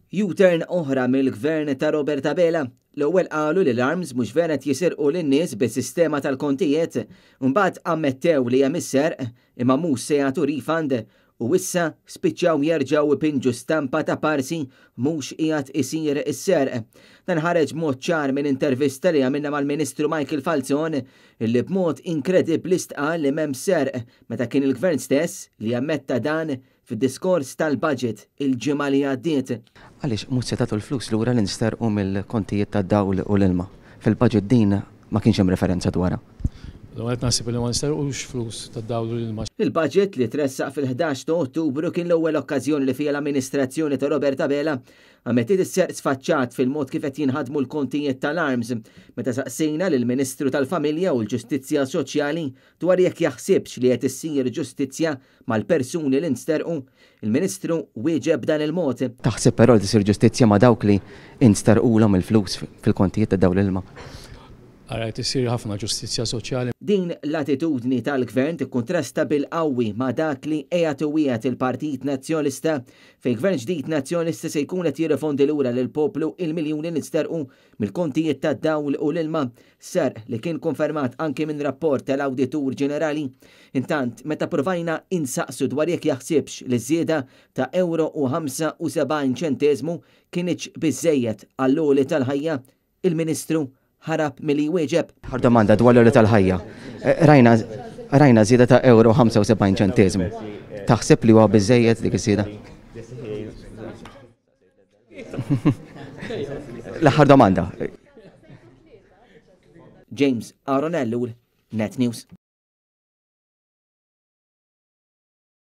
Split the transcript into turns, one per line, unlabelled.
U-turn oħra mill-Gvern ta' Robert Abela. L-ewwel qalu li l-ARMS mhux vera qed jisirqu lin-nies bis-sistema tal-kontijiet, imbagħad ammettew li hemm is-serq imma mhux se jagħtu refund u issa spiċċaw jerġgħu jpinġu stampa ta' parsi mhux qiegħed isir is-serq. Dan ħareġ b'mod ċar minn intervista li għamilna mal-Ministru Michael Falzon illi b'mod inkredibbli stqarr li m'hemm serq meta kien il-Gvern stess li ammetta dan fid-diskors tal-budget il-ġimgħa li għaddiet.
Għaliex mhux se tagħtu l-flus lura li nsterqu mill-kontijiet tad-dawl u l-ilma? Fil-budget din ma kienx hemm referenza dwarha.
L-ewwel nett naħseb li ma nsterqux flus tad-dawl u l-ilma.
Il-budget li tressaq fil-11 ta' Ottubru kien l-ewwel okkażjoni li fiha l-amministrazzjoni ta' Robert Abela ammettiet is-serq sfaċċat fil-mod kif qed jinħadmu l-kontijiet tal-ARMS. Meta saqsejna lill-Ministru tal-Familja u l-Ġustizzja Soċjali dwar jekk jaħsibx li qed issir ġustizzja mal-persuni li nsterqu, il-Ministru wieġeb b'dan il-mod.
Taħseb però li tisir ġustizzja ma' dawk li nsterqulhom il-flus fil-kontijiet ta' dawl l-ilma?
Ara qed issir ħafna ġustizzja soċjali.
Din l-attitudni tal-Gvern tikkuntrasta bil-qawwi ma' dak li qiegħed iwiegħed il-Partit Nazzjonalista fejn Gvern ġdid Nazzjonalista se jkun qed jirrifondi lura lill-poplu il-miljuni li nsterqu mill-kontijiet tad-dawl u l-ilma, serq li kien konfermat anki minn rapport tal-Awditur Ġenerali. Intant, meta ppruvajna insaqsu dwar jekk jaħsibx li ż-żieda ta' ewro u 75 ċenteżmu kinitx biżżejjed għall-għoli tal-ħajja, il-Ministru ħarab milli jwieġeb.
Aħħar domanda dwar l-għoli tal-ħajja. Rajna rajna żieda ta' ewro 75 ċenteżmu. Taħseb li huwa biżżejjed dik iż-żieda? L-aħħar domanda.
James Aaron Ellul, Net News.